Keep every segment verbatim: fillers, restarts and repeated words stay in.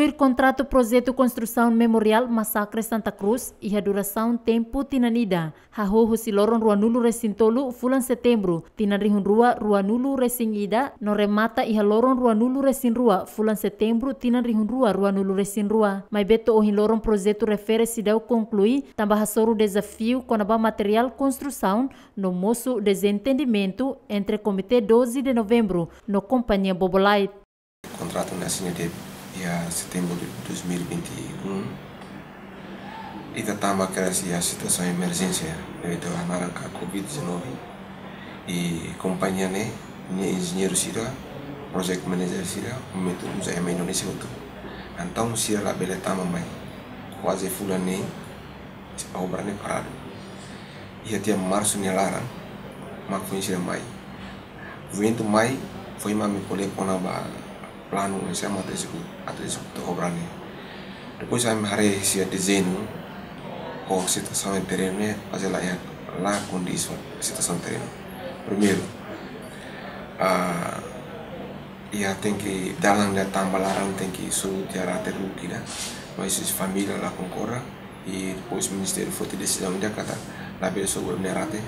Tuir kontratu projetu konstrusaun Memoriál Masakre Santa Cruz, iha durasaun tempu tinan ida, hahú husi loron ruanulu resin tolu fulan Setembru tinan rihun rua ruanulu resin ida, no remata iha loron ruanulu resin rua fulan Setembru tinan rihun rua ruanulu resin rua. Maibé to'o ohin loron projetu refere seidauk konklui, tanba hasoru dezafiu kona-ba materiál konstrusaun, no mosu dezentendimentu entre Komité doze de Novembro no kompañia Bobolait. Kontratu ne'e asina de'it iha Setembru de dois mil e vinte e um. Ita tama kedas iha situasaun emerjénsia devidu hanaran ka covid dezanove. I kompañia ne'e, nia enjeñeiru sira, project manager sira, momentu uza ema Indonézia hotu. Entaun sira labele tama mai. Kuaze fulan neen, obra ne'e paradu. Iha tiha Marsu nia laran, mak foin sira mai. Ventu mai, foin mak ami ko'alia kona-ba planu, ese mak atu ezekuta, atu ezekuta obra ne'e. Depois ami haree sira dezeñu, ho situasaun terrenu ne'e, fase la iha, la kondiz ho situasaun terrenu. Primeiru, ah, iha tenke dalan ida tamba laran tenke sobu tiha rate ruk ida. Mas família la konkorda, i depois ministériu foti desizaun ida katak labele sobu ema nia rate,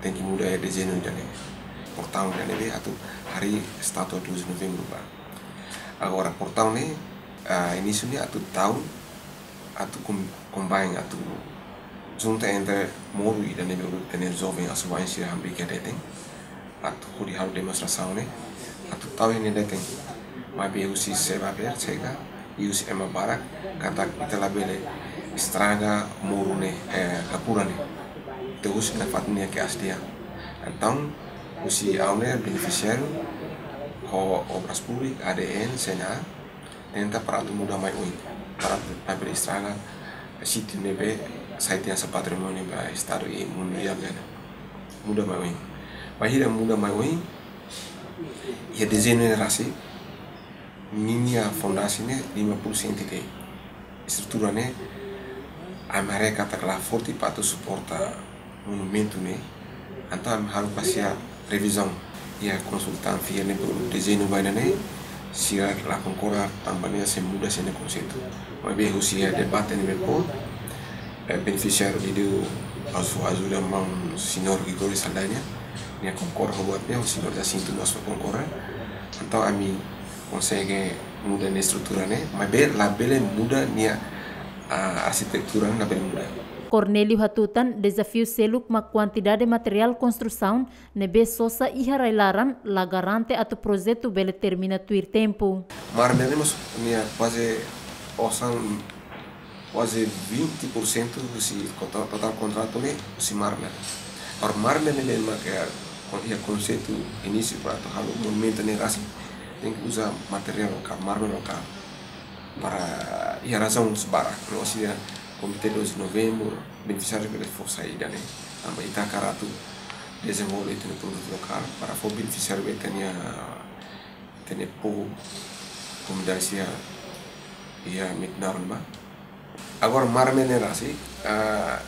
tenke muda iha dezeñu ida ne'e. Portaun ida ne'ebé atu harii estátua doze de Novembro ba. Agora portaun ne'e, ah, inísiu ne'e atu tau, atu kom-, kombain, atu junta entre moru ida ne'ebé uluk tene joven asuwa'in sira hamriik iha leten, atu hodi halo demonstrasaun ne'e, atu tau iha nia leten. Maibé husi SEBAPER chega, i husi ema barak, katak ita labele estraga moru ne'e, eh, Kakura ne'e. Ita husu nafatin nia keaslian. Entaun, husi ha'u ne'e benefisiáriu, ho Obras Públikas, A D N, C N A, tenta para atu muda mai oin, para atu labele estraga sítiu ne'ebé sai tiha hanesan patrimóniu ba estadu i mundiál nian. Muda mai oin. Bainhira muda mai oin, iha dezeñu ne'e rasik, ninia fondasi ne'e lima puluh senti de'it. Estrutura ne'e, ami haree katak la forte para atu suporta monumentu ne'e, entaun ami halo ba sira revizaun. Iha konsultante sira ne'ebé uluk dezeñu ba ida ne'e, sira la konkorda tanba nia sei muda sira-nia konseitu. Maibé husi iha debate ne'ebé fó, eh, benefisiáriu ida atu ajuda maun señór Gregorio Saldanha, nia konkorda ho buat ne'e, señór Jacinto mós konkorda. Entaun ami konsege muda nia estrutura ne'e, maibé labele muda nia, ah, arkitektura ne'e labele muda. Cornélio hatutan, dezafiu seluk mak kuantidade materiál konstrusaun ne'ebé sosa iha rai-laran la garante atu projetu bele termina tuir tempu. Mármore ne'e mós nia kuaze osan, kuaze vinte por cento husi kota-, totál kontratu ne'e husi mármore. Agora mármore ne'e mak iha kon-, iha konseitu inísiu para atu halo monumentu ne'e rasik, tenke uza materiál lokál, mármore lokál. Para iha razaun barak, no sira Komité doze de Novembro, benefisiáriu bele fó saida ne'e. Tanba ita hakarak atu dezenvolve ita-nia produtu lokál, para fó benefisiáriu ba ita-nia, ita-nia povu, komunidade sira iha Metinaro ne'ebá. Agora mármore ne'e rasik, ah,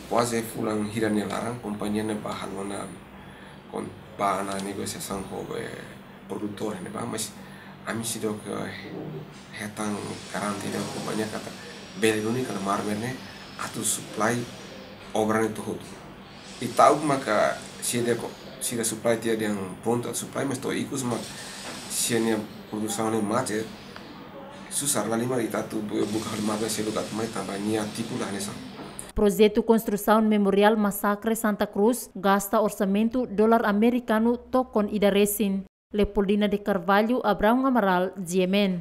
kuaze fulan hira nia laran, kompañia ne'e bá halo ona kon-, bá ona negosiasaun ho, eh, produtór ne'ebá, mas ami seidauk, eh, hetan garantia husi kompañia katak bele duni kala mármore ne'e atu supply obra ne'e to'o hotu. I ta'uk maka sira ko-, sira supply tiha dehan prontu atu supply, mas to'o ikus mak sira-nia produsaun ne'e mate, susar, lae mak ita atu bu-, buka halo mármore seluk atu mai tanba nia tipu la hanesan. Projetu konstrusaun Memoriál Masakre Santa Cruz gasta orsamentu dolar amerikanu tokon ida resin. Leopoldina de Carvalho, Abraão Amaral, G M N.